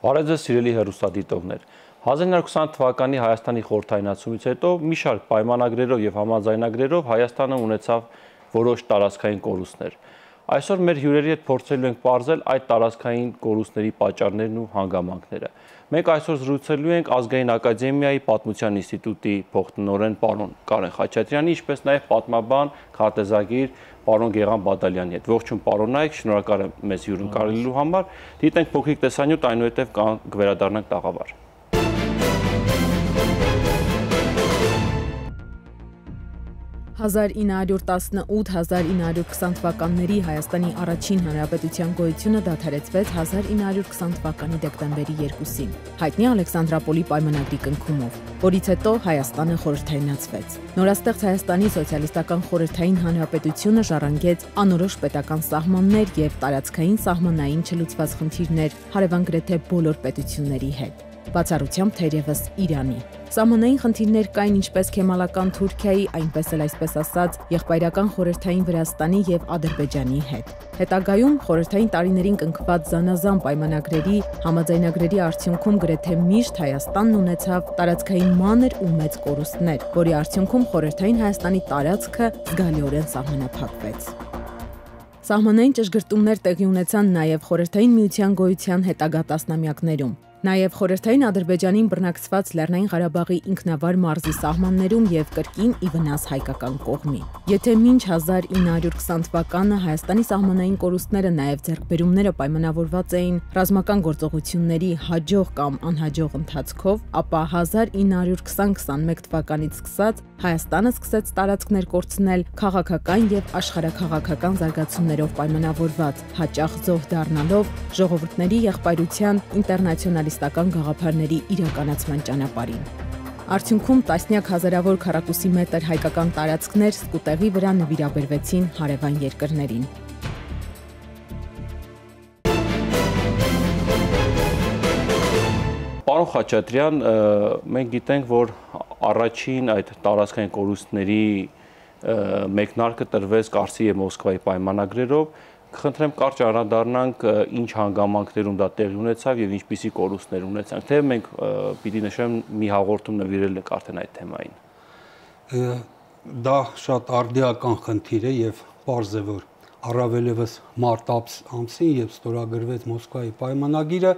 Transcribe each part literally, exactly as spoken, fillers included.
Բարև ձեզ սիրելի հեռուստադիտողներ։ հազար իննյակ ութ ութ թվականի Հայաստանի խորհրդայնացումից հետո մի շարք պայմանագրերով եւ համաձայնագրերով Հայաստանը ունեցավ որոշ տարածքային կորուստներ։ Այսօր մեր հյուրերի հետ փորձելու ենք պարզել այդ տարածքային կորուստների պատճառներն ու հանգամանքները։ Մենք այսօր զրուցելու ենք Ազգային ակադեմիայի Պատմության ինստիտուտի փոխտնօրեն պարոն Կարեն Խաչատրյանի, ինչպես նաև պատմաբան, քարտեզագիր պարոն Գեղամ Բադալյանի հետ։ Ողջույն պարոնայք, շնորհակալ եմ մեզ հյուրընկալելու համար։ Դիտենք փոքրիկ տեսանյութ, այնուհետև կվերադառնանք տաղավար։ հազար ինը հարյուր տասնութ - հազար ինը հարյուր քսան թվականների Հայաստանի առաջին հանրապետության գոյությունը դադարեցվեց հազար ինը հարյուր քսան թվականի դեկտեմբերի երկուսին, հայտնի Ալեքսանդրապոլի պայմանագրի կնքումով, որից հետո Հայաստանը խորհրդայնացվեց։ Նորաստեղծ Հայաստանի սոցիալիստական խորհրդային հանրապետությունը ժառանգեց անորոշ պետական սահմաններ եւ տարածքային սահմանային չլուծված խնդիրներ հարևան գրեթե բոլոր պետությունների հետ, բացառությամբ թերևս Իրանի։ Սահմանային խնդիրներ կային ինչպես Քեմալական Թուրքիայի, այնպես էլ այսպես ասած եղբայրական խորհրդային Վրաստանի եւ Ադրբեջանի հետ։ Հետագայում խորհրդային տարիներին կնքված զանազան պայմանագրերի, համաձայնագրերի արդյունքում գրեթե միշտ Հայաստանն ունեցավ տարածքային մանր ու մեծ կորուստներ, որի արդյունքում խորհրդային Հայաստանի տարածքը զգալիորեն սահմանափակվեց։ Սահմանային ճշգրտումներ տեղի ունեցան նաև խորհրդային միության գոյության հետագա տասնամյակներում։ Նաև խորհրդային Ադրբեջանին բռնակցված Լեռնային Ղարաբաղի ինքնավար մարզի սահմաններում եւ կրկին ի վնաս հայկական կողմի։ Եթե մինչ հազար ինը հարյուր քսան թվականը Հայաստանի սահմանային կորուստները նաև ձեռքբերումները պայմանավորված էին ռազմական գործողությունների հաջող կամ անհաջող ընթացքով, ապա հազար ինը հարյուր քսան քսանմեկ թվականից սկսած Հայաստանը սկսեց տարածքներ կորցնել քաղաքական եւ աշխարհաքաղաքական զարգացումներով պայմանավորված, հաճախ զոհ դառնալով ժողովուրդների եղբայրության ինտերնացիոնալիստական գաղափարների իրականացման ճանապարհին։ Արդյունքում տասնյակ հազարավոր քառակուսի մետր հայկական տարածքներ սկուտեղի վրա նվիրաբերվեցին հարևան երկրներին։ Պարոն Խաչատրյան, մենք գիտենք, որ առաջին այդ տարածքային կորուստների մեկնարկը տրվեց Կարսի եւ Մոսկվայի պայմանագրերով։ Կխնդրեմ կարճ անդրադառնանք ինչ հանգամանքներում դա տեղի ունեցավ եւ ինչպիսի կորուստներ ունեցանք, թե մենք պիտի նշեմ մի հաղորդում նվիրել ենք արդեն այդ թեմային։ Դա շատ արդիական խնդիր է եւ պարզ է, որ առավելևս մարտ ամսին, երբ ստորագրվեց Մոսկվայի պայմանագիրը,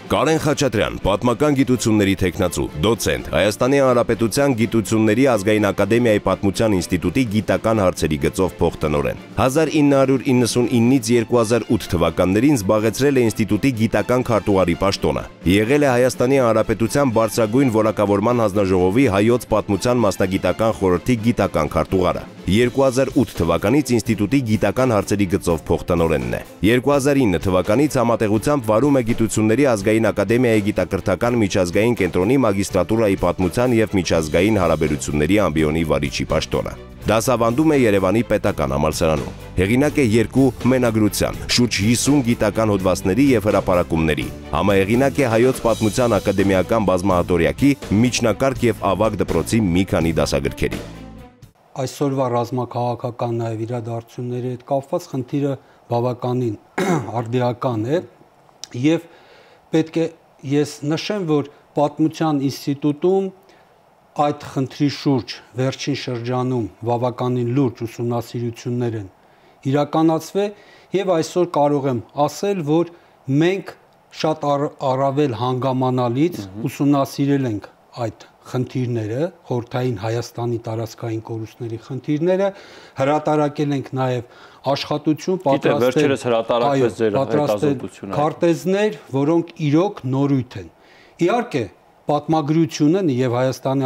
Կարեն Խաչատրյան, պատմական գիտությունների թեկնածու, դոցենտ, Հայաստանի Հանրապետության Գիտությունների Ազգային ակադեմիայի Պատմության ինստիտուտի գիտական հարցերի գծով փոխտնօրեն։ հազար ինը հարյուր իննսունինից երկու հազար ութ թվականներին զբաղեցրել է ինստիտուտի գիտական քարտուղարի պաշտոնը։ Եղել է Հայաստանի Հանրապետության բարձրագույն որակավորման հանձնաժողովի հայոց պատմության մասնագիտական խորհրդի գիտական քարտուղարը։ երկու հազար ութ թվականից ինստիտուտի գիտական հարցերի գծով փոխտնօրենն է։ երկու հազար ինը թվականից համատեղությամբ վարում է Գիտությունների ազգային ակադեմիայի գիտակրթական միջազգային կենտրոնի մագիստրատուրայի պատմության եւ միջազգային հարաբերությունների ամբիոնի վարիչի պաշտոնը։ Դասավանդում է Երևանի պետական համալսարանում։ Հեղինակ է երկու մենագրության, շուրջ հիսուն գիտական հոդվածների եւ հրապարակումների։ Համահեղինակ է Հայոց պատմության ակադեմիական բազմահատորյակի միջնակարգ եւ ավագ դպրոցի մի քանի դասագրքերի։ Այսօրվա ռազմաքաղաքական նաև իրադարձությունների հետ կապված խնդիրը բավականին արդիական է եւ պետք է ես նշեմ, որ Պատմության ինստիտուտում այդ խնդրի շուրջ վերջին շրջանում բավականին լուրջ ուսումնասիրություններ են իրականացվել եւ այսօր կարող եմ ասել, որ մենք շատ առավել հանգամանալից ուսումնասիրել ենք այդ խնդիրները, խորհրդային Հայաստանի տարածքային կորուստների խնդիրները, հրատարակել ենք նաև աշխատություն, պատրաստել քարտեզներ, որոնք իրոք նորույթ են։ Իհարկե, պատմագրությունը եւ Հայաստանի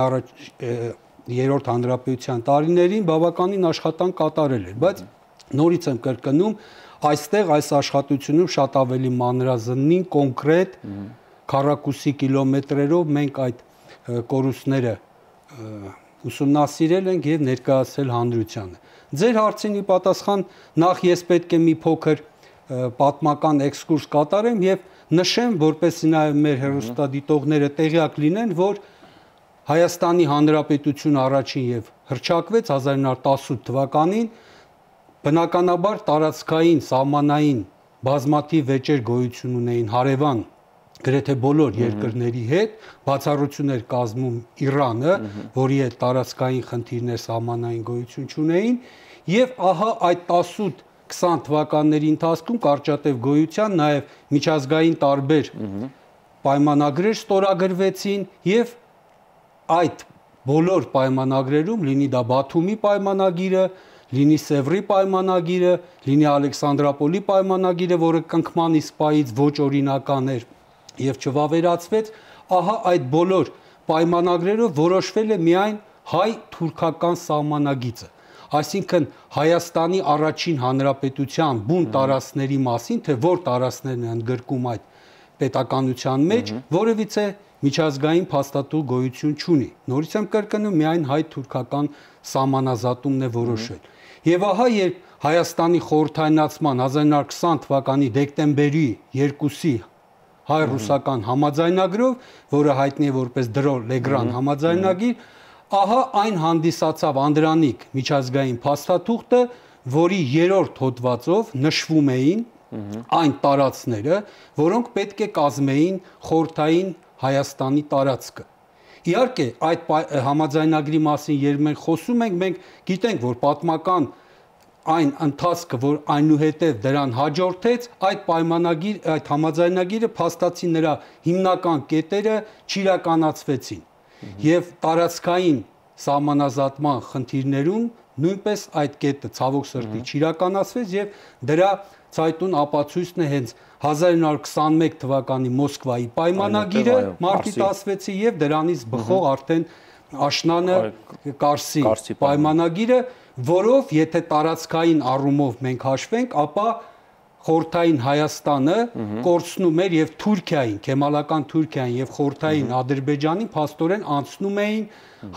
երրորդ հանրապետության տարիներին բավականին աշխատանք կատարել էր, բայց նորից եմ կրկնում, այստեղ այս աշխատությունում շատ ավելի մանրազնին, կոնկրետ քառակուսի կիլոմետրերով մենք այդ կորուստները ուսումնասիրել ենք եւ ներկայացրել հանրությանը։ Ձեր հարցին ի պատասխան նախ ես պետք է մի փոքր պատմական էքսկուրս կատարեմ եւ նշեմ, որպեսզի նաեւ մեր հեռուստադիտողները տեղյակ լինեն, որ Հայաստանի Հանրապետությունը առաջին եւ հռչակվեց հազար ինը հարյուր տասնութ թվականին, բնականաբար տարածքային, սահմանային բազմաթիվ վեճեր գոյություն ունեին հարևան գրեթե բոլոր երկրների հետ, բացառություններ կազմում Իրանը, որի հետ տարածքային խնդիրներ սահմանային գոյություն չունեին, եւ ահա այդ տասութ քսան թվականների ընթացքում կարճատև գոյության նաեւ միջազգային տարբեր պայմանագրեր ստորագրվեցին եւ այդ բոլոր պայմանագրերում լինի դա Բաթումի պայմանագիրը, լինի Սևրի պայմանագիրը, լինի Ալեքսանդրապոլի պայմանագիրը, որը կնքման իսպայից ոչ օրինական էր եւ չվավերացվեց, ահա այդ բոլոր պայմանագրերով որոշվել է միայն հայ-թուրքական սահմանագիծը, այսինքն Հայաստանի առաջին հանրապետության բուն տարածքների մասին, թե որ տարածքներն են ընդգրկում այդ պետականության մեջ, որևիցե միջազգային փաստաթուղթ գոյություն չունի։ Նորից եմ կրկնում, միայն հայ-թուրքական սահմանազատումն է որոշվել։ Եվ ահա երբ Հայաստանի խորհրդայնացման հազար ինը հարյուր քսան թվականի դեկտեմբերի երկուսի հայ-ռուսական համաձայնագրով, որը հայտնի է որպես Դրո-Լեգրան համաձայնագիր, ահա այն հանդիսացավ անդրանիկ միջազգային փաստաթուղթը, որի երրորդ հոդվածով նշվում էին այն տարածքները, որոնք պետք է կազմեին խորհրդային Հայաստանի տարածքը։ Իհարկե, այդ համաձայնագրի մասին երբ մենք խոսում ենք, մենք գիտենք, որ պատմական այն ընթացքը, որ այնուհետև դրան հաջորդեց, այդ պայմանագիր, այդ համաձայնագիրը փաստացի նրա հիմնական կետերը չիրականացվեցին։ Եվ տարածքային սահմանազատման խնդիրներում նույնպես այդ կետը ցավոք սրտի չիրականացվեց եւ դրա ցայտուն ապացույցն է հենց հազար ինը հարյուր քսանմեկ թվականի Մոսկվայի պայմանագիրը մարտի տասնվեցի եւ դրանից բխող արդեն աշնանը Կարսի պայմանագիրը, որով եթե տարածքային առումով մենք հաշվենք, ապա խորհրդային Հայաստանը կորցնում էր եւ Թուրքիային, Քեմալական Թուրքիային եւ խորհրդային Ադրբեջանին փաստորեն անցնում էին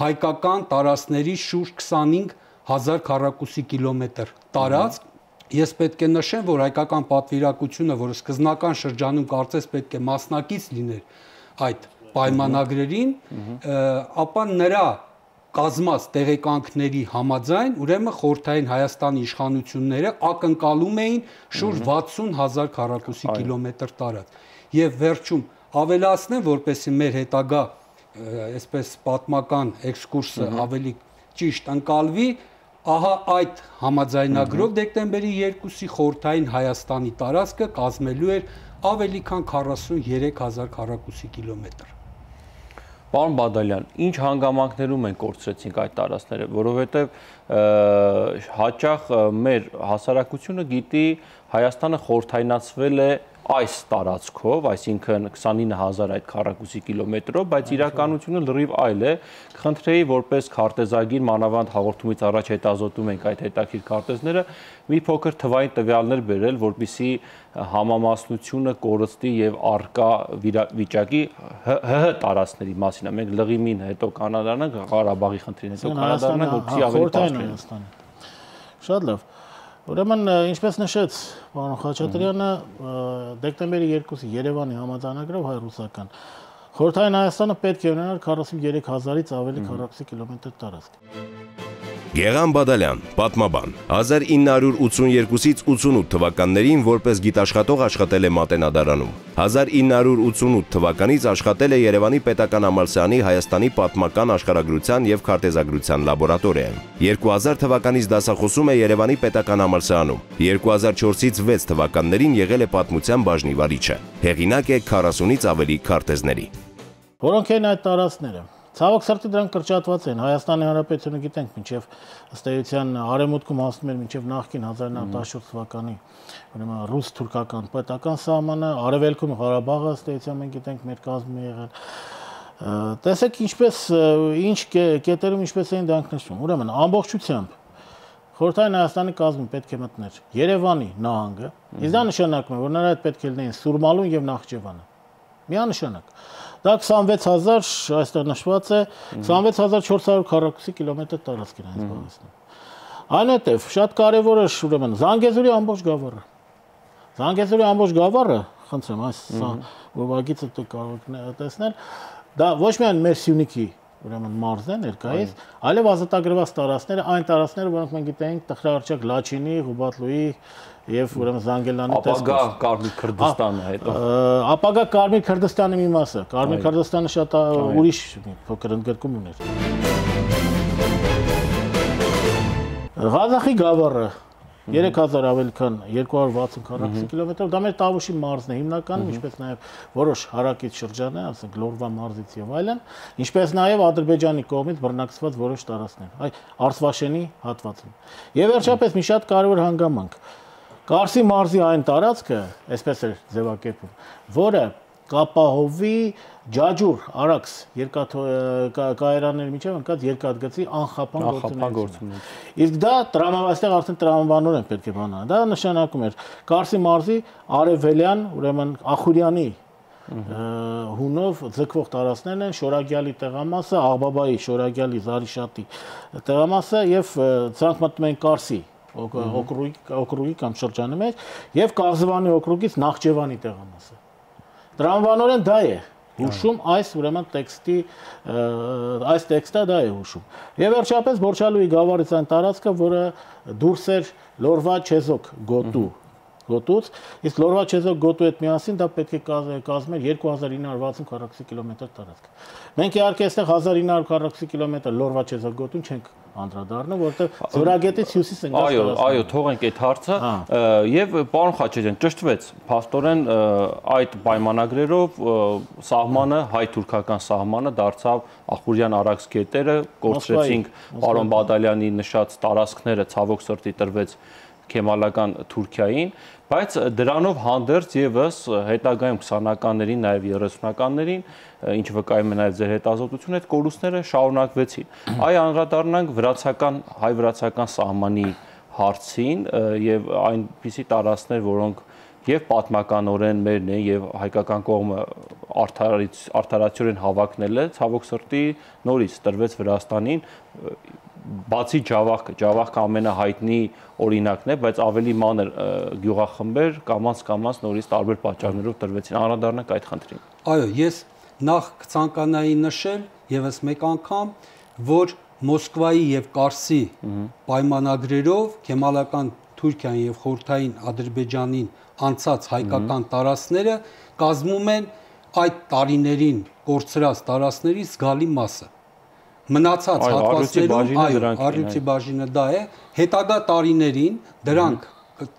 հայկական տարածքների շուրջ քսանհինգ հազար քառակուսի կիլոմետր տարածք։ Ես պետք է նշեմ, որ հայկական պատվիրակությունը, որը սկզբնական շրջանում կարծես պետք է մասնակից լիներ այդ պայմանագրերին, ապա նրա կազմած տեղեկանքների համաձայն, ուրեմն խորհրդային Հայաստանի իշխանությունները ակնկալում էին շուրջ վաթսուն հազար քառակուսի կիլոմետր տարածք։ Եվ վերջում ավելացնեմ, որպեսզի մեր հետագա այսպես պատմական էքսկուրսը ավելի ճիշտ ընկալվի, ահա այդ համաձայնագրով դեկտեմբերի երկուսի խորհրդային Հայաստանի տարածքը կազմելու էր ավելի քան քառասուններեք հազար քառակուսի կիլոմետր։ Պարոն Բադալյան, ինչ հանգամանքներում են կորցրեցինք այդ տարածքները, որովհետև հաճախ մեր հասարակությունը գիտի Հայաստանը խորհրդայնացվել է այս տարածքով, այսինքն քսանինը հազար այդ քառակուսի կիլոմետրով, բայց իրականությունը լրիվ այլ է։ Խնդրեի, որպես քարտեզագիր, մանավանդ հաղորդումից առաջ հետազոտում ենք այդ հետաքրքիր քարտեզները, մի փոքր թվային տվյալներ բերել, որպեսզի համամասնությունը կորստի եւ արկա վիճակի ՀՀ տարածքների մասին։ Մենք լղիմին հետո կանադանանք, Ղարաբաղի խնդրին հետո կանադանանք, որպեսզի ավելի բարձր։ Շատ լավ։ Ուրեմն, ինչպես նշեց պարոն Խաչատրյանը, դեկտեմբերի երկուսի Երևանի համաձայնագրով հայ-ռուսական խորհրդային Հայաստանը պետք է ունենար քառասուներեք հազարից ավելի քառակուսի կիլոմետր տարածք։ Գեղամ Բադալյան, պատմաբան, հազար ինը հարյուր ութսուներկուսից ութսունութ թվականներին որպես գիտաշխատող աշխատել է Մատենադարանում։ հազար ինը հարյուր ութսունութ թվականից աշխատել է Երևանի պետական համալսարանի Հայաստանի պատմական աշխարհագրության եւ քարտեզագրության լաբորատորիայում։ երկու հազար թվականից դասախոսում է Երևանի պետական համալսարանում։ երկու հազար չորսից վեց թվականներին եղել է պատմության բաժնի վարիչը։ Հեղինակ է քառասունից ավելի քարտեզների։ Որոնք են այդ տարածքները։ Ցավոք սրտի դրանք կրճատված են։ Հայաստանի Հանրապետությունը գիտենք, մինչև ըստ էության արևմուտքում հասնում էր մինչև նախկին հազար ինը հարյուր տասնչորս թվականի, ուրեմն ռուս-թուրքական պետական սահմանը, արևելքում Ղարաբաղը ըստ էության մենք գիտենք մեր կազմում է եղել։ Տեսեք ինչպես ինչ կետերում ինչպես էին դրանք նշվում։ Ուրեմն ամբողջությամբ խորհրդային Հայաստանի կազմում պետք է մտներ Երևանի նահանգը, իսկ դա նշանակում է, որ նրա հետ պետք է լինեին Սուրմալուն եւ Նախճեվանը։ Միանշանակ։ Դա քսանվեց հազար, այստեղ նշված է, քսանվեց հազար չորս հարյուր քառակուսի կիլոմետր տարածք են այս զբաղեցնում։ Այնուհետև շատ կարևոր է ուրեմն Զանգեզուրի ամբողջ գավառը։ Զանգեզուրի ամբողջ գավառը, խնդրեմ, այս ուղղագիծը դուք կարող եք տեսնել, դա ոչ միայն մեր Սյունիքի ուրեմն մարզն է ներկայիս, այլև ազատագրված տարածքները, այն տարածքները, որոնք մենք գիտենք Տխրահարճակ, Լաչինի, Ղուբատլուի եւ ուրեմն Զանգելյանի տեսքով։ Ապագա Կարմիր Քրդստանը հետո։ Ապագա Կարմիր Քրդստանի մի մասը։ Կարմիր Քրդստանը շատ ուրիշ փոքր ընդգրկում ուներ։ Ղազախի գավառը երեք հազար ավելի քան երկու հարյուր վաթսուն քառակուսի կիլոմետր, դա մեր Տավուշի մարզն է հիմնականում, ինչպես նաև որոշ հարակից շրջան է, ասենք Լորվա մարզից եւ այլն, ինչպես նաև Ադրբեջանի կողմից բռնակցված որոշ տարածքներ, այ Արցվաշենի հատվածում։ Եվ վերջապես մի շատ կարևոր հանգամանք։ Կարսի մարզի այն տարածքը, այսպես է ձևակերպում, որը կապահովի Ջաջուր, Արաքս երկաթկայարանների միջև ընկած երկաթգծի անխափան գործունեությունը։ Իսկ դա տրամաբաններ արդեն տրամաբանորեն պետք է բանան։ Դա նշանակում էր Կարսի մարզի արևելյան, ուրեմն Ախուրյանի հունով ձգվող տարածքներն են Շորագյալի տեղամասը, Աղբաբայի, Շորագյալի, Զարիշատի տեղամասը եւ ցանկ մտնում են Կարսի օկրուգի օկրուգի կամ շրջանի մեջ եւ Կաղզվանի օկրուգից Նախճեվանի տեղամասը։ Տրամաբանորեն դա է հուշում այս ուրեմն տեքստի այս տեքստը դա է հուշում։ Եվ վերջապես Բորչալուի գավառից այն տարածքը, որը դուրս էր Լորվա Չեզոկ գոտու գոտուց, իսկ Լորվա Չեզոկ գոտու հետ միասին դա պետք է կազմեր երկու հազար ինը հարյուր վաթսուն քառակուսի կիլոմետր տարածք։ Մենք իհարկե այստեղ հազար ինը հարյուր քառակուսի կիլոմետր Լորվա Չեզոկ գոտուն չենք անդրադառնում, որտեղ Զորագետից հյուսիս են գալիս։ Այո, այո, թողենք այդ հարցը եւ պարոն Խաչատրյան, ճշտվեց, փաստորեն այդ պայմանագրերով սահմանը հայ-թուրքական սահմանը դարձավ Ախուրյան Արաքս գետերը, կորցրեցինք պարոն Բադալյանի նշած տարածքները, ցավոք սրտի տրվեց Քեմալական Թուրքիային, բայց դրանով հանդերձ եւս հետագայում քսանականներին, նաեւ երեսունականներին, ինչ վկայում է նաեւ ձեր հետազոտությունը, այդ կորուստները շարունակվեցին։ Այ անդրադառնանք վրացական հայ-վրացական սահմանի հարցին եւ այնպիսի տարածքներ, որոնք եւ պատմականորեն մերն են եւ հայկական կողմը արդարացիորեն հավակնել է, ցավոք սրտի նորից տրվեց Վրաստանին, բացի Ջավախքը, Ջավախքը ամենահայտնի օրինակն է, բայց ավելի մանր գյուղախմբեր կամաց-կամաց նորից տարբեր պատճառներով տրվեցին։ Անդրադառնանք այդ խնդրին։ Այո, ես նախ կցանկանայի նշել եւս մեկ անգամ, որ Մոսկվայի եւ Կարսի պայմանագրերով Քեմալական Թուրքիան եւ խորհրդային Ադրբեջանին անցած հայկական տարածքները կազմում են այդ տարիներին կորցրած տարածքների զգալի մասը։ Մնացած հատվածներում այո, առյուծի բաժինը դա է, հետագա տարիներին դրանք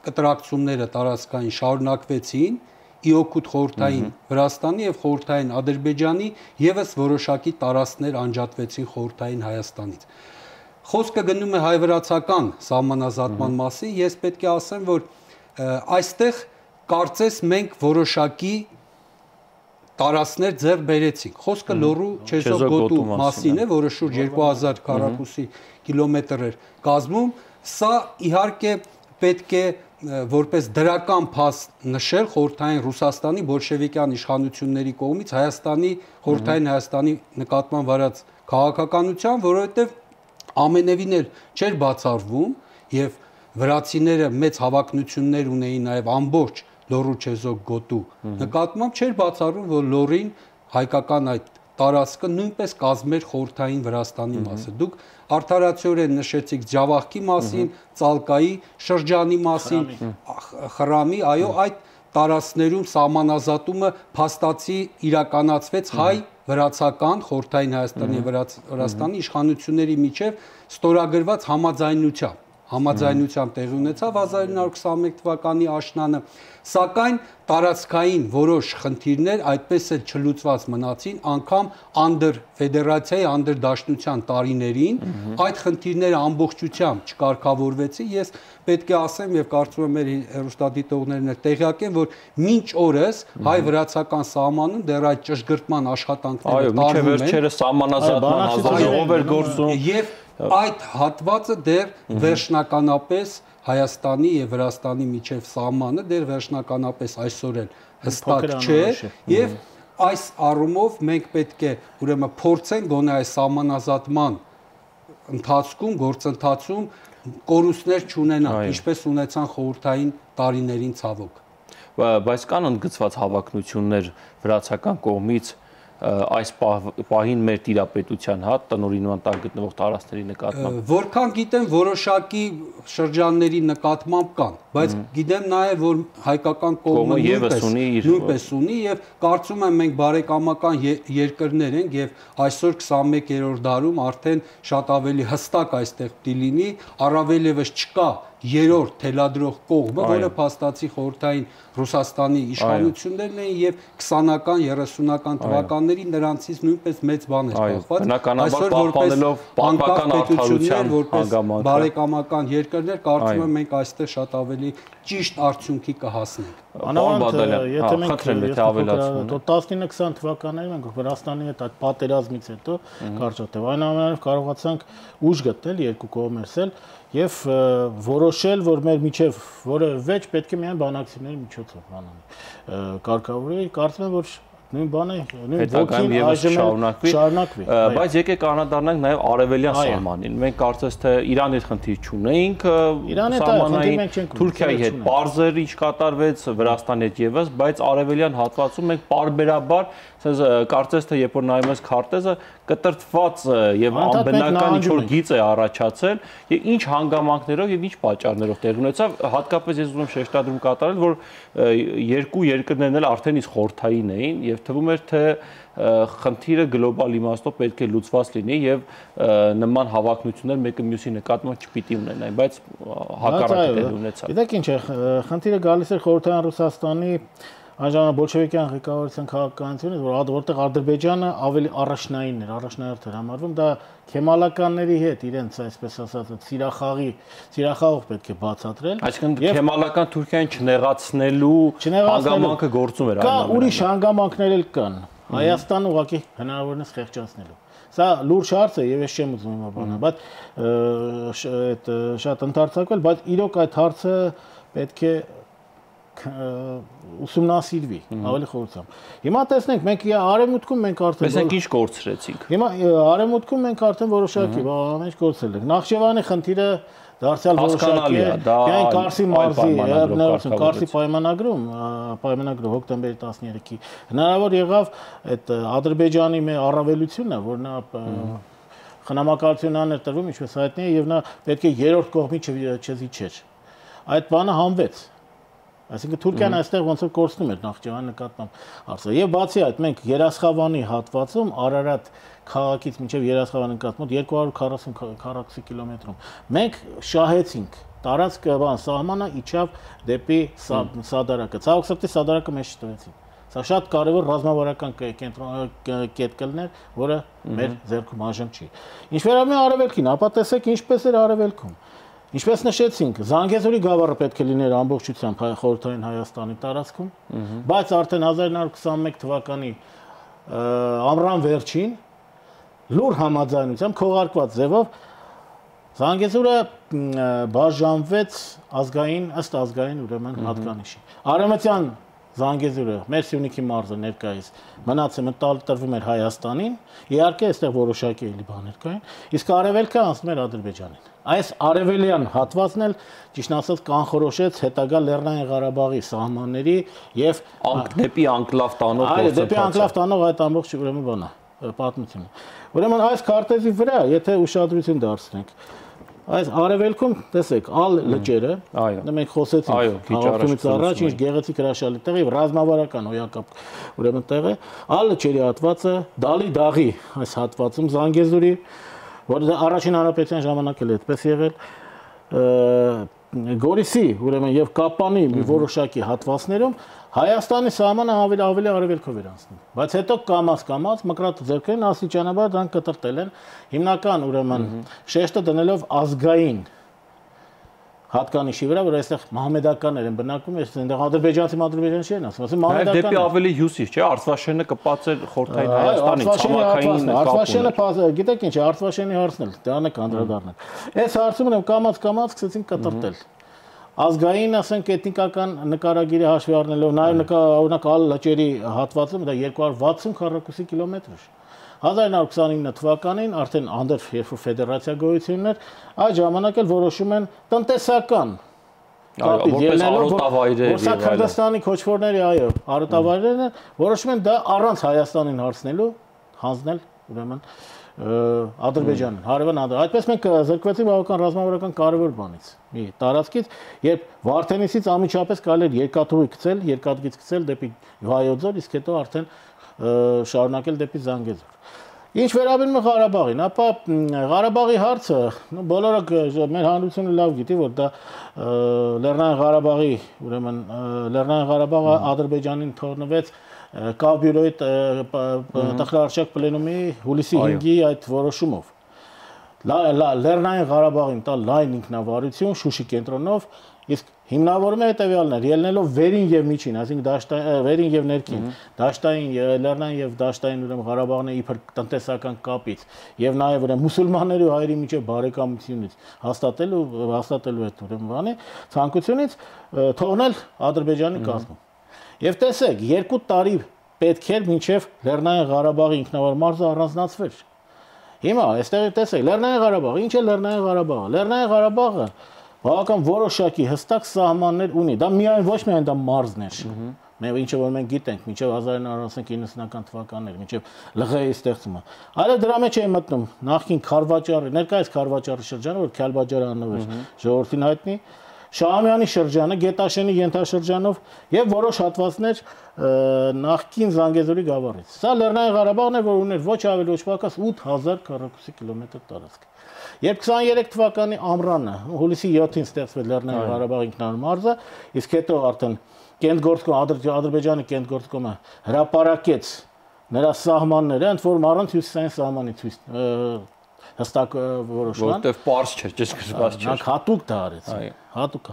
կտրակցումները տարածքային շարունակվեցին ի օգուտ խորհրդային Վրաստանի եւ խորհրդային Ադրբեջանի եւս որոշակի տարածքներ անջատվեցին խորհրդային Հայաստանից։ Խոսքը գնում է հայ-վրացական սահմանազատման մասին, ես պետք է ասեմ, որ այստեղ կարծես մենք որոշակի տարածքներ ձեռք բերեցինք։ Խոսքը Լոռու Չեզոկ գոտու մասին է, որը շուրջ երկու հազար քառակուսի կիլոմետր էր կազմում։ Սա իհարկե պետք է որպես դրական փաստ նշել խորհրդային Ռուսաստանի բոլշևիկյան իշխանությունների կողմից Հայաստանի խորհրդային Հայաստանի նկատմամբ վարած քաղաքականության, որովհետև ամենևին էլ չէր բացառվում եւ վրացիները մեծ հավակնություններ ունեին նաեւ ամբողջ Լոռու Չեզոկ գոտու նկատմամբ չէր բացառում, որ Լոռին հայկական այդ տարածքը նույնպես կազմեր խորհրդային Վրաստանի մասը։ Դուք արդարացիորեն նշեցիք Ջավախքի մասին, Ծալկայի շրջանի մասին, Խրամի, այո, այդ տարածքներում սահմանազատումը փաստացի իրականացվեց հայ վրացական խորհրդային Հայաստանի Վրաստանի իշխանությունների միջև ստորագրված համաձայնությամբ համաձայնությամբ տեղի ունեցավ հազար ինը հարյուր քսաներեք թվականի աշնանը, սակայն տարածքային որոշ խնդիրներ այդպես էլ չլուծված մնացին, անգամ անդր ֆեդերացիայի անդր դաշնության տարիներին այդ խնդիրները ամբողջությամբ չկարգավորվեցին։ Ես պետք է ասեմ եւ կարծում եմ մեր հեռուստադիտողներն էլ տեղյակ են, որ մինչ օրս հայ-վրացական սահմանում դեռ այդ ճշգրտման աշխատանքները տարվում են։ Այո, մինչև վերջերս սահմանազատման հանձնաժողով էր գործում եւ այդ հատվածը դեռ վերջնականապես Հայաստանի եւ Վրաստանի միջև սահմանը դեռ վերջնականապես այսօր էլ հստակ չէ եւ այս առումով մենք պետք է ուրեմն փորձենք գոնե այս սահմանազատման ընթացքում գործընթացում կորուստներ չունենալ, ինչպես ունեցան խորհրդային տարիներին ցավոք։ Բայց կան ընդգծված հավակնություններ վրացական կողմից այս պահին մեր տիրապետության հատ տնօրինման տակ գտնվող տարածքների նկատմամբ։ Որքան գիտեմ, որոշակի շրջանների նկատմամբ կան, բայց գիտեմ նաև որ հայկական կողմը նույնպես ունի եւ կարծում եմ մենք բարեկամական երկրներ ենք եւ այսօր քսանմեկերորդ դարում արդեն շատ ավելի հստակ այստեղ պիտի լինի, առավել եւս չկա երրորդ թելադրող կողմը, որը փաստացի խորհրդային Ռուսաստանի իշխանություններն էին եւ քսանական երեսունական թվականներին նրանցից նույնպես մեծ բան էր կախված։ Այսօր պահպանելով պատմական արդարության հանգամանքը բարեկամական երկրներ, կարծում եմ մենք այստեղ շատ ավելի ճիշտ արդյունքի կհասնենք։ Անավանդ, եթե մենք տասնինը քսան թվականներին մենք Վրաստանի հետ այդ պատերազմից հետո կարճատև այնուամենայնիվ կարողացանք ուժ գտնել երկու կողմերս էլ եւ որոշել, որ մեր միջև որևէ վեճ պետք է միայն բանակցությունների միջոցով բանանի կարգավորի, կարծում եմ որ նույն բանը նույն ոգին շարունակվի, բայց եկեք անդրադառնանք նաև արևելյան սահմանին։ Մենք կարծես թե Իրանի հետ խնդիր չունեինք, սահմանային Թուրքիայի հետ պարզեր ինչ կատարվեց, Վրաստանի հետ եւս, բայց արևելյան հատվածում մենք պարբերաբար կարծես թե երբ որ նայում ես քարտեզը կտրտված եւ անբնական ինչ-որ գիծ է առաջացել եւ ինչ հանգամանքներով եւ ինչ պատճառներով տեղի ունեցավ, հատկապես ես ուզում եմ շեշտադրում կատարել, որ երկու երկրներն էլ արդեն իսկ խորհրդային էին եւ թվում էր թե խնդիրը գլոբալ իմաստով պետք է լուծված լինի եւ նման հավակնություններ մեկը մյուսի նկատմամբ չպիտի ունենային, բայց հակառակը տեղի ունեցավ։ Գիտեք ինչ է, խնդիրը գալիս է խորհրդային Ռուսաստանի Այժմ բոլշևիկյան ղեկավարության քաղաքականությունից, որ որտեղ Ադրբեջանը ավելի առաջնային էր, առաջնահերթ էր համարվում, դա քեմալականների հետ իրենց այսպես ասած սիրախաղի, սիրախաղով պետք է բացատրել։ Այսինքն քեմալական Թուրքիային չնեղացնելու հանգամանքը գործում էր այնուամենայնիվ։ Կա ուրիշ հանգամանքներ էլ կան։ Հայաստանը ուղղակի հնարավորինս խեղճացնելու։ Սա լուրջ հարց է եւ ես չեմ ուզում հիմա բանը, բայց այդ շատ ընդարձակվել, բայց իրոք այդ հարցը պետք է ուսումնասիրվի ավելի խորությամբ։ Հիմա տեսնենք մենք արևմուտքում մենք արդեն տեսնենք ինչ կորցրեցինք։ Հիմա արևմուտքում մենք արդեն որոշակի բան ինչ կորցրել ենք։ Նախճեվանի խնդիրը դարձյալ որոշակի է։ Միայն Կարսի մարզի ներողություն, Կարսի պայմանագրում, պայմանագրը հոկտեմբերի տասներեքի հնարավոր եղավ այդ Ադրբեջանի մեր առավելությունը, որ նա խնամակալություն աներ տրվում, ինչպես հայտնի է, եւ նա պետք է երրորդ կողմի չզիջեր։ Այդ բանը հանվեց։ Այսինքն Թուրքիան այստեղ ոնց որ կորցնում էր Նախճեվանի նկատմամբ հարցը։ Եվ բացի այդ, մենք Երասխավանի հատվածում Արարատ քաղաքից մինչև Երասխավանի նկատմամբ երկու հարյուր քառասուն քառակուսի կիլոմետրում մենք շահեցինք տարածքը բան սահմանը իջավ դեպի Սադարակը։ Ցավոք սրտի Սադարակը մեզ չտվեցին։ Սա շատ կարևոր ռազմավարական կետ կլներ, որը մեր ձեռքում այժմ չի։ Ինչ վերաբերում է արևելքին, ապա տեսեք ինչպես էր արևելքում։ Ինչպես նշեցինք, Զանգեզուրի գավառը պետք է լիներ ամբողջությամբ խորհրդային Հայաստանի տարածքում, բայց արդեն հազար ինը հարյուր քսանմեկ թվականի ամռան վերջին լուր համաձայնությամբ քողարկված ձևով Զանգեզուրը բաժանվեց ազգային ըստ ազգային ուրեմն հատկանիշի։ Արևմտյան Զանգեզուրը մեր Սյունիքի մարզը ներկայիս մնացը մտալ տրվում էր Հայաստանին, իհարկե այստեղ որոշակի էլի բաներ կային, իսկ արևելքը անցնում էր Ադրբեջանին։ Այս արևելյան հատվածն էլ ճիշտ ասած կանխորոշեց հետագա Լեռնային Ղարաբաղի սահմանների եւ դեպի անկլավ տանող գործընթացը։ Այո, դեպի անկլավ տանող այդ ամբողջ ուրեմն բանը, պատմությունը։ Ուրեմն այս քարտեզի վրա, եթե ուշադրություն դարձնենք, այս արևելքում տեսեք ալ լճերը, մենք խոսեցինք հաղորդումից առաջ, ինչ գեղեցիկ հրաշալի տեղ եւ ռազմավարական հոյակապ ուրեմն տեղ է, ալ լճերի հատվածը Դալի դաղի այս հատվածում Զանգեզուրի, որը առաջին հանրապետության ժամանակ էլ այդպես եղել, Գորիսի ուրեմն եւ Կապանի մի որոշակի հատվածներում Հայաստանի սահմանը ավելի ավելի արևելքով էր անցնում, բայց հետո կամաց-կամաց մկրատ ձեռքերին աստիճանաբար դրանք կտրտել են հիմնական ուրեմն շեշտը դնելով ազգային հատկանիշի վրա, որ այստեղ մահմեդականներ են բնակվում, այստեղ ադրբեջանցի ադրբեջանցի չեն ասում, ասում մահմեդական։ Դեպի ավելի հյուսիս, չէ՞, Արցվաշենը կպած էր խորհրդային Հայաստանից, ցամաքային Արցվաշենը, գիտեք ինչ է, Արցվաշենի հարցն էլ, դրան եք անդրադառնել։ Այս հարցում եմ կամաց-կամաց սկսեցին կտրտել։ Ազգային, ասենք, էթնիկական նկարագիրը հաշվի առնելով, նաև օրինակ ալ լճերի հատվածում դա երկու հարյուր վաթսուն քառակուսի կիլոմետր էր։ հազար ինը հարյուր քսանինը թվականին արդեն անդր երբ որ ֆեդերացիա գոյություն էր, այդ ժամանակ էլ որոշում են տնտեսական որպես արոտավայրեր եւ այլն։ Քրդստանի քոչվորների, այո, արոտավայրերն որոշում են դա առանց Հայաստանին հարցնելու հանձնել ուրեմն Ադրբեջանին, հարևան Ադրբեջան։ Այդպես մենք զրկվեցինք բավական ռազմավարական կարևոր բանից։ Մի տարածքից, երբ Վարդենիսից անմիջապես կարելի էր երկաթուղի գցել, երկաթգիծ գցել դեպի Վայոց ձոր, իսկ հետո արդեն շարունակել դեպի Զանգեզուր։ Ինչ վերաբերում է Ղարաբաղին, ապա Ղարաբաղի հարցը, բոլորը մեր հանրությունը լավ գիտի, որ դա Լեռնային Ղարաբաղի, ուրեմն Լեռնային Ղարաբաղը Ադրբեջանին թողնվեց Կավ բյուրոյի տխրարշակ պլենումի հուլիսի հինգի այդ որոշումով։ Լեռնային Ղարաբաղին տալ լայն ինքնավարություն Շուշի կենտրոնով, իսկ հիմնավորում է հետևյալն էր, ելնելով վերին եւ միջին, այսինքն վերին եւ ներքին, դաշտային, լեռնային եւ դաշտային ուրեմն Ղարաբաղն է իբր տնտեսական կապից եւ նաեւ ուրեմն մուսուլմանների ու հայերի միջեւ բարեկամությունից հաստատելու հաստատելու այդ ուրեմն բանը ցանկությունից թողնել Ադրբեջանի կազմում։ Եվ տեսեք, երկու տարի պետք էր մինչև Լեռնային Ղարաբաղի ինքնավար մարզը առանձնացվեր։ Հիմա այստեղ տեսեք, Լեռնային Ղարաբաղը, ինչ է Լեռնային Ղարաբաղը։ Լեռնային Ղարաբաղը բավական որոշակի հստակ սահմաններ ունի։ Դա միայն ոչ միայն դա մարզն էր։ Մենք ինչը որ մենք գիտենք, մինչև հազար ինը հարյուր իննսունական թվականներ, մինչև Լղեի ստեղծումը։ Այլ դրա մեջ է մտնում նախքին Խարվաճարի, ներկայիս Խարվաճարի շրջանը, որ Քյալբաջարը անվեր ժողովրդին հայտնի, Շահամյանի շրջանը, Գետաշենի ենթաշրջանով եւ որոշ հատվածներ նախքին Զանգեզուրի գավառից։ Սա Լեռնային Ղարաբաղն է, որ ուներ ոչ ավելի ոչ պակաս ութ հազար քառակուսի կիլոմետր տարածք։ Երբ քսաներեք թվականի ամռանը, հուլիսի յոթին ստեղծվեց Լեռնային Ղարաբաղի ինքնավար մարզը, իսկ հետո արդեն Կենտգործկոմ Ադրբեջանի Կենտգործկոմը հրապարակեց նրա սահմանները, ընդ որում առանց հյուսիսային սահմանի ցույց հստակ որոշման, որտեղ պարզ չէր, ճշգրտված չէր։ Նա հատուկ դա արեց։ Հատուկ։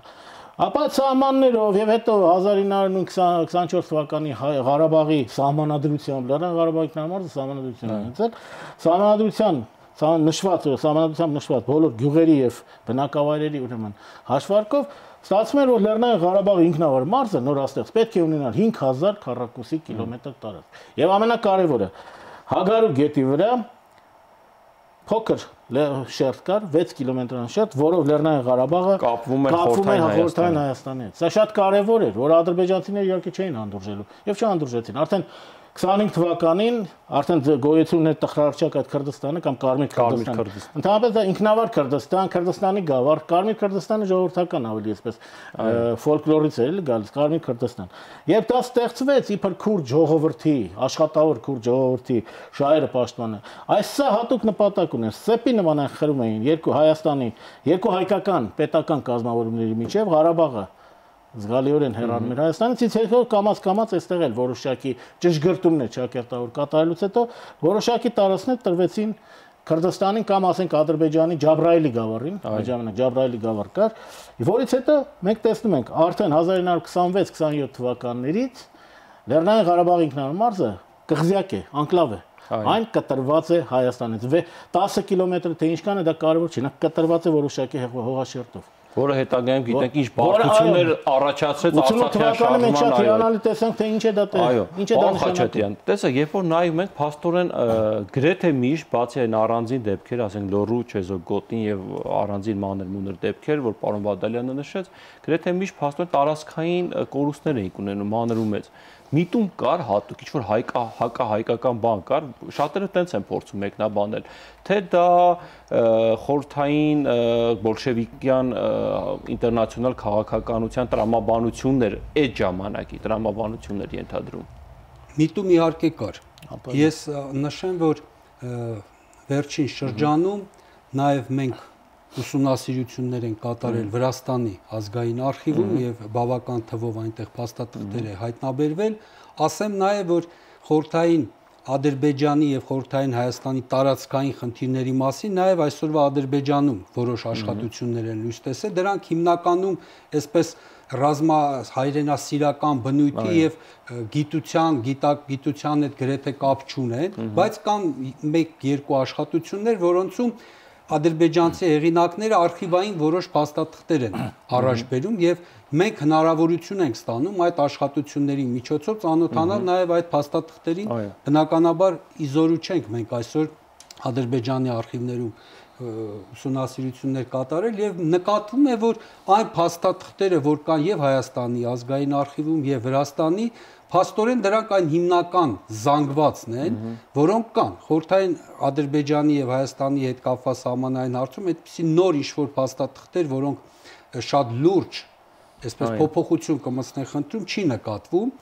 Ապա սահմաններով եւ հետո հազար ինը հարյուր քսանչորս թվականի Ղարաբաղի սահմանադրությամբ, Լեռնային Ղարաբաղի ինքնամարզը սահմանադրություն ունեցել, սահմանադրության նշված, սահմանադրությամբ նշված բոլոր գյուղերի եւ բնակավայրերի ուրեմն հաշվարկով ստացվում էր, որ Լեռնային Ղարաբաղի ինքնավար մարզը նորաստեղծ պետք է ունենար հինգ հազար քառակուսի կիլոմետր տարածք։ Եվ ամենակարևորը Հագարու գետի վրա փոքր շերտ կար, վեց կիլոմետրան շերտ, որով Լեռնային Ղարաբաղը կապվում էր Խորհրդային Հայաստանի հետ։ Սա շատ կարևոր էր, որ ադրբեջանցիները իհարկե չէին հանդուրժելու եւ չհանդուրժեցին։ Արդեն քսանհինգ թվականին արդեն գոյություն էր տխրարշակ այդ Քրդստանը կամ Կարմիր Քրդստանը։ Ընդհանրապես դա ինքնավար Քրդստան, Քրդստանի գավառ, Կարմիր Քրդստանը ժողովրդական ավելի այսպես ֆոլկլորից էր գալիս Կարմիր Քրդստան։ Երբ դա ստեղծվեց իբր քուրդ ժողովրդի, աշխատավոր քուրդ ժողովրդի շահերը պաշտպանը, այս սա հատուկ նպատակ ուներ։ Սեպի նման խրում էին երկու Հայաստանի, երկու հայկական պետական կազմավորումների միջև Ղարաբաղը զգալիորեն հեռանում էր Հայաստանից, իսկ հետո կամաց-կամաց այստեղ էլ որոշակի ճշգրտումներ ճակերտավոր կատարելուց հետո որոշակի տարածքներ տրվեցին Քրդստանին կամ ասենք Ադրբեջանի Ջաբրայելի գավառին, այդ ժամանակ Ջաբրայելի գավառ կար, որից հետո մենք տեսնում ենք արդեն հազար ինը հարյուր քսանվեց քսանյոթ թվականներից Լեռնային Ղարաբաղի ինքնավար մարզը կղզյակ է, անկլավ է։ Այն կտրված է Հայաստանից։ տասը կիլոմետր թե ինչքան է դա կարևոր չի, նա կտրված է որոշակի հողաշերտով։ Որը հետագայում գիտենք ինչ բարդություններ առաջացրեց Արցախյան շարժման, շատ հիանալի տեսանք թե ինչ է դա ինչ է դա նշանակում։ Տեսեք, երբ որ նայում ենք փաստորեն գրեթե միշտ բացի այն առանձին դեպքեր, ասենք Լոռու, Չեզոգոտին եւ առանձին մանր-մունր դեպքեր, որ պարոն Բադալյանը նշեց, գրեթե միշտ փաստորեն տարածքային կորուստներ էին ունենում մանր ու մեծ։ Միտում կար հատուկ ինչ-որ հայկա հակահայկական բան կար, շատերը տենց են փորձում մեկնաբանել, թե դա խորհրդային բոլշևիկյան ինտերնացիոնալ քաղաքականության տրամաբանություններ, այդ ժամանակի տրամաբանություններ ենթադրում։ Միտում իհարկե կար։ Ես նշեմ, որ վերջին շրջանում նաև մենք ուսումնասիրություններ են կատարել Վրաստանի ազգային արխիվում եւ բավական թվով այնտեղ փաստաթղթեր է հայտնաբերվել, ասեմ նաեւ որ խորհրդային Ադրբեջանի եւ խորհրդային Հայաստանի տարածքային խնդիրների մասին նաեւ այսօրվա Ադրբեջանում որոշ աշխատություններ են լույս տեսել, դրանք հիմնականում այսպես ռազմա հայրենասիրական բնույթի եւ գիտության, գիտակ գիտության հետ գրեթե կապ չունեն, բայց կան մեկ-երկու աշխատություններ, որոնցում ադրբեջանցի հեղինակները արխիվային որոշ փաստաթղթեր են առաջ բերում եւ մենք հնարավորություն ենք ստանում այդ աշխատությունների միջոցով ծանոթանալ նաեւ այդ փաստաթղթերին, բնականաբար իզորու չենք մենք այսօր Ադրբեջանի արխիվներում ուսումնասիրություններ կատարել եւ նկատվում է, որ այն փաստաթղթերը, որ կան եւ Հայաստանի ազգային արխիվում եւ Վրաստանի, փաստորեն դրանք այն հիմնական զանգվածն են, որոնք կան։ Խորհրդային Ադրբեջանի եւ Հայաստանի հետ կապված սահմանային հարցում այդպիսի նոր ինչ-որ փաստաթղթեր, որոնք շատ լուրջ, այսպես փոփոխություն կմտցնեն խնդրում, չի նկատվում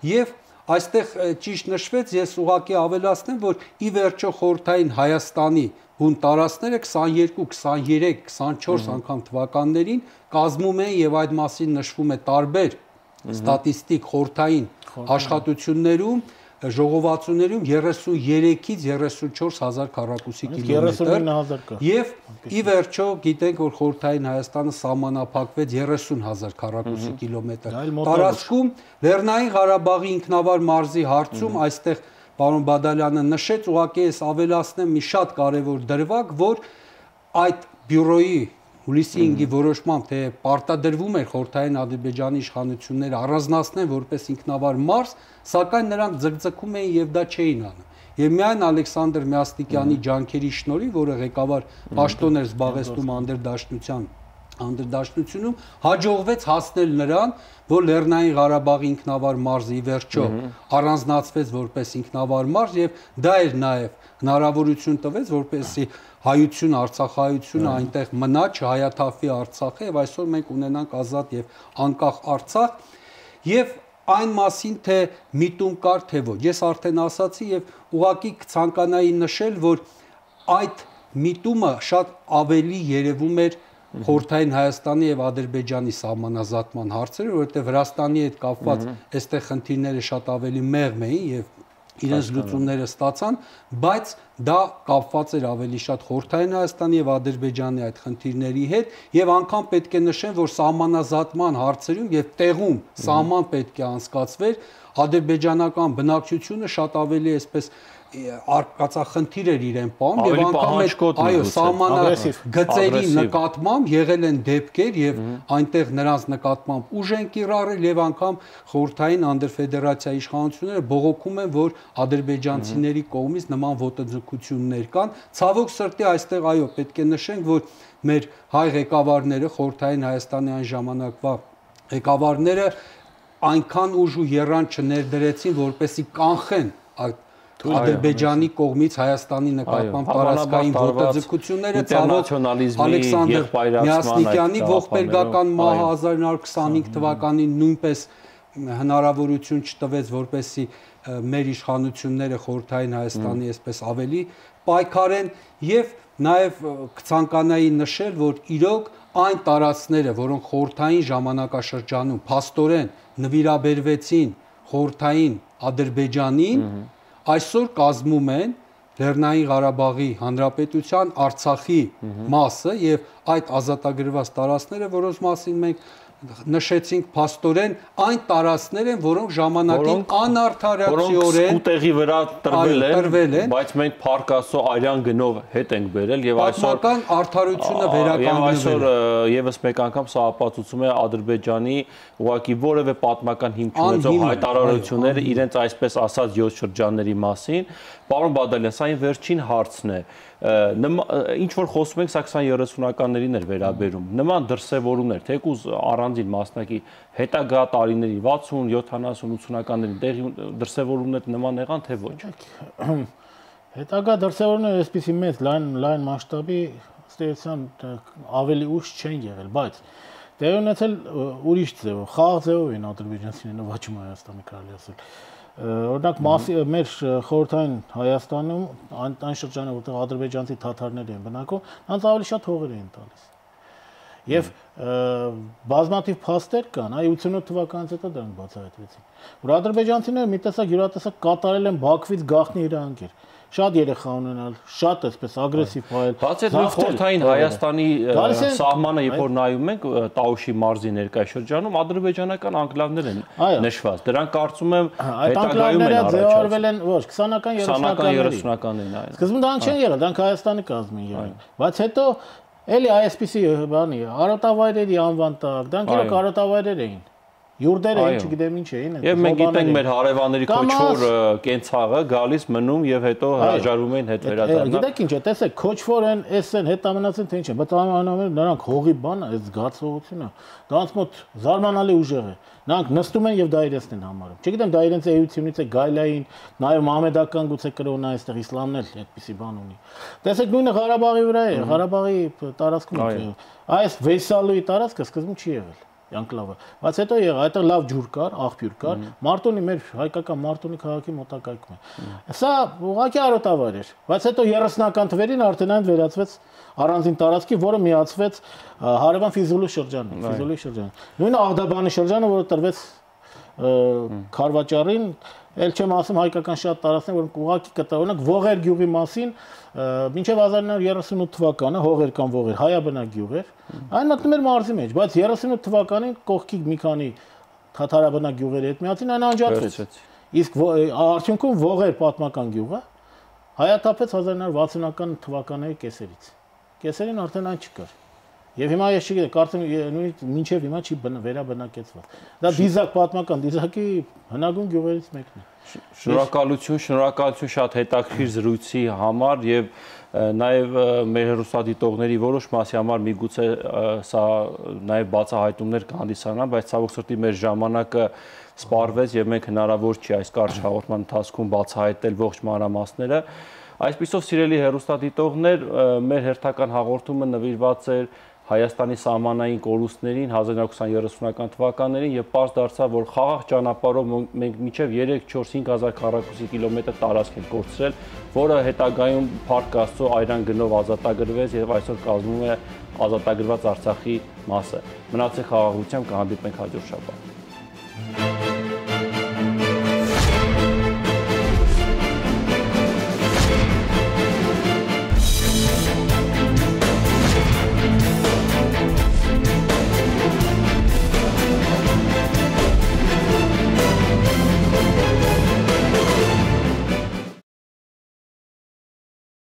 եւ այստեղ ճիշտ նշվեց, ես ուղղակի ավելացնեմ, որ ի վերջո խորհրդային Հայաստանի հուն տարածքները քսաներկու, քսաներեք, քսանչորս անգամ թվականներին կազմում են եւ այդ մասին նշվում է տարբեր ստատիստիկ խորհրդային աշխատություններում, ժողովածուներում երեսուներեքից երեսունչորս հազար քառակուսի կիլոմետր եւ ի վերջո գիտենք, որ խորհրդային Հայաստանը սահմանափակվեց երեսուն հազար քառակուսի կիլոմետր տարածքում Լեռնային Ղարաբաղի ինքնավար մարզի հարցում այստեղ պարոն Բադալյանը նշեց, ուղղակի ես ավելացնեմ մի շատ կարևոր դրվագ, որ այդ բյուրոյի հուլիսի հինգի որոշմամբ թե պարտադրվում էր խորհրդային Ադրբեջանի իշխանությունները առանձնացնեն որպես ինքնավար մարզ, սակայն նրանք ձգձգում էին եւ դա չէին անում։ Եվ միայն Ալեքսանդր Միաստիկյանի ջանքերի շնորհիվ, որը ղեկավար պաշտոն էր զբաղեցնում անդրդաշնության անդրդաշնությունում, հաջողվեց հասնել նրան, որ Լեռնային Ղարաբաղի ինքնավար մարզը ի վերջո առանձնացվեց որպես ինքնավար մարզ եւ դա էր նաեւ հնարավորություն տվեց, որպեսզի հայություն, արցախայությունը այնտեղ մնա, չհայաթափվի Արցախը եւ այսօր մենք ունենանք ազատ եւ անկախ Արցախ եւ այն մասին թե միտում կար թե ոչ։ Ես արդեն ասացի եւ ուղղակի կցանկանայի նշել, որ այդ միտումը շատ ավելի երևում էր խորհրդային Հայաստանի եւ Ադրբեջանի սահմանազատման հարցերը, որովհետեւ Վրաստանի հետ կապված այստեղ խնդիրները շատ ավելի մեղմ էին եւ իրենց լուծումները ստացան, բայց դա կապված էր ավելի շատ խորհրդային Հայաստանի եւ Ադրբեջանի այդ խնդիրների հետ եւ անգամ պետք է նշեմ, որ սահմանազատման հարցերում եւ տեղում սահման պետք է անցկացվեր, ադրբեջանական բնակչությունը շատ ավելի այսպես արկածախնդիր էր իրեն պահում եւ անգամ այդ այո սահմանագծերի նկատմամբ եղել են դեպքեր եւ այնտեղ նրանց նկատմամբ ուժ են կիրառել եւ անգամ խորհրդային անդրֆեդերացիայի իշխանությունները բողոքում են, որ ադրբեջանցիների կողմից նման ոտնձգություններ կան։ Ցավոք սրտի այստեղ այո պետք է նշենք, որ մեր հայ ղեկավարները խորհրդային Հայաստանի այն ժամանակվա ղեկավարները այնքան ուժ ու եռան չներդրեցին, որպեսզի կանխեն այդ Ադրբեջանի կողմից Հայաստանի նկատմամբ տարածքային ոտնձգությունները, ցավոք Ալեքսանդր Միասնիկյանի ողբերգական մահը հազար ինը հարյուր քսանհինգ թվականին նույնպես հնարավորություն չտվեց, որպեսզի մեր իշխանությունները խորհրդային Հայաստանի այսպես ավելի պայքարեն եւ նաեւ կցանկանայի նշել, որ իրոք այն տարածքները, որոնք խորհրդային ժամանակաշրջանում փաստորեն նվիրաբերվեցին խորհրդային Ադրբեջանին, այսօր կազմում են Լեռնային Ղարաբաղի Հանրապետության Արցախի մասը եւ այդ ազատագրված տարածքները, որոնց մասին մենք նշեցինք փաստորեն այն տարածքներ են, որոնք ժամանակին անարդարացիորեն ուտեղի վրա տրվել են, բայց մենք Փառք Աստծո արյան գնով հետ ենք բերել եւ այսօր պատմական արդարությունը վերականգնվել։ Այսօր եւս մեկ անգամ սա ապացուցում է Ադրբեջանի ուղղակի որևէ պատմական հիմք ունեցող հայտարարությունները իրենց այսպես ասած յոթ շրջանների մասին։ Պարոն Բադալյան, սա այն վերջին հարցն է։ Ինչ որ խոսում ենք, սա քսաներեսունականներին էր վերաբերում։ Նման դրսևորումներ, թեկուզ առանձին մասնակի հետագա տարիների վաթսուն, յոթանասուն, ութսունականների տեղի դրսևորումներ նման եղան, թե ոչ։ Հետագա դրսևորումները այսպիսի մեծ լայն լայն մասշտաբի ստեղծան ավելի ուշ չեն եղել, բայց տեղի ունեցել ուրիշ ձևով, խաղաղ ձևով են ադրբեջանցիները նվաճում Հայաստանի կարելի ասել։ Օրինակ մեր խորհրդային Հայաստանում այն շրջանը, որտեղ ադրբեջանցի թաթարներ են բնակվում, նրանց ավելի շատ հողեր էին տալիս։ Եվ բազմաթիվ փաստեր կան, այ ութսունութ թվականից հետո դրանք բացահայտվեցին, որ ադրբեջանցիները մի տեսակ յուրատեսակ կատարել են Բաքվից գաղտնի իրավունքեր։ Շատ երեխա ունենալ, շատ այսպես ագրեսիվ փայել։ Բացի այդ խորհրդային Հայաստանի սահմանը, երբ որ նայում ենք Տաուշի մարզի ներկայշրջանում, ադրբեջանական անկլավներ են նշված։ Դրանք կարծում եմ հետագայում են ձևավորվել են ոչ քսանական երեսունականներին, այո։ Սկզբում դրանք չեն եղել, դրանք Հայաստանի կազմին եղել։ Բայց հետո էլի այսպիսի բանի արոտավայրերի անվան տակ, դրանք իրոք արոտավայրեր էին։ Յուրդերը չգիտեմ ինչ էին։ Եվ մենք գիտենք մեր հարևանների քոչվոր կենցաղը գալիս մնում եւ հետո հրաժարվում էին հետ վերադառնալ։ Գիտեք ինչ է, տեսեք, քոչվոր են, էս են, հետամնացին թե ինչ է, բայց անհամեմատ նրանք հողի բանը, այս զգացողությունը, դրանց մոտ զարմանալի ուժեղ է։ Նրանք նստում են եւ դա իրենցն են համարում։ Չգիտեմ, դա իրենց էությունից է գայլային, նաեւ մահմեդական գուցե կրոնն է, այստեղ իսլամն էլ այդպիսի բան ունի։ Տեսեք, նույնը Ղարաբաղի վրա է, Ղարաբաղի տարածքում այս Վեյսալուի տարածքը սկզբում չի եղել Յանկլավը, բայց հետո եղա, այդտեղ լավ ջուր կար, աղբյուր կար, Մարտունի մեր հայկական Մարտունի քաղաքի մոտակայքում է։ Սա ուղղակի արոտավայր էր, բայց հետո երեսնական թվերին արդեն այն վերածվեց առանձին տարածքի, որը միացվեց հարևան Ֆիզուլի շրջանին, Ֆիզուլի շրջանը։ Նույնը Աղդաբանի շրջանը, որը տրվեց Խարվաճարին, ել չեմ ասում հայկական շատ տարածքներ, որոնք ուղղակի կտա, օրինակ Ողեր գյուղի մասին մինչև հազար նոր երեսունութ թվականը Հողեր կամ Ողեր հայաբնակ գյուղ էր, այն մտնում էր մարզի մեջ, բայց երեսունութ թվականին կողքի մի քանի թաթարաբնակ գյուղերի հետ միացին, այն անջատվեց։ Իսկ արդյունքում Ողեր պատմական գյուղը հայաթափեց հազար նոր վաթսունական թվականների կեսերից։ Կեսերին արդեն այն չկար։ Եվ հիմա ես չգիտեմ, կարծեմ նույնիսկ մինչև հիմա չի վերաբնակեցված։ Դա դիզակ պատմական դիզակի հնագույն գյուղերից մեկն է։ Շնորհակալություն, շնորհակալություն շատ հետաքրքիր զրույցի համար եւ նաեւ մեր հեռուստադիտողների որոշ մասի համար միգուցե սա նաեւ բացահայտումներ կհանդիսանա, բայց ցավոք սրտի մեր ժամանակը սպառվեց եւ մենք հնարավոր չի այս կարճ հաղորդման ընթացքում բացահայտել ողջ մանրամասները։ Այսպիսով սիրելի հեռուստադիտողներ, մեր հերթական հաղորդումը նվիրված էր Հայաստանի սահմանային կորուստներին հազար նոր երեսունական թվականներին եւ պարզ դարձավ, որ խաղաղ ճանապարհով մենք մինչեւ երեք չորս հինգ հազար քառակուսի կիլոմետր տարածք ենք կորցրել, որը հետագայում Փառք Աստծո այրան գնով ազատագրվեց եւ այսօր կազմում է ազատագրված Արցախի մասը։ Մնացեք խաղաղությամբ, կհանդիպենք հաջորդ շաբաթ։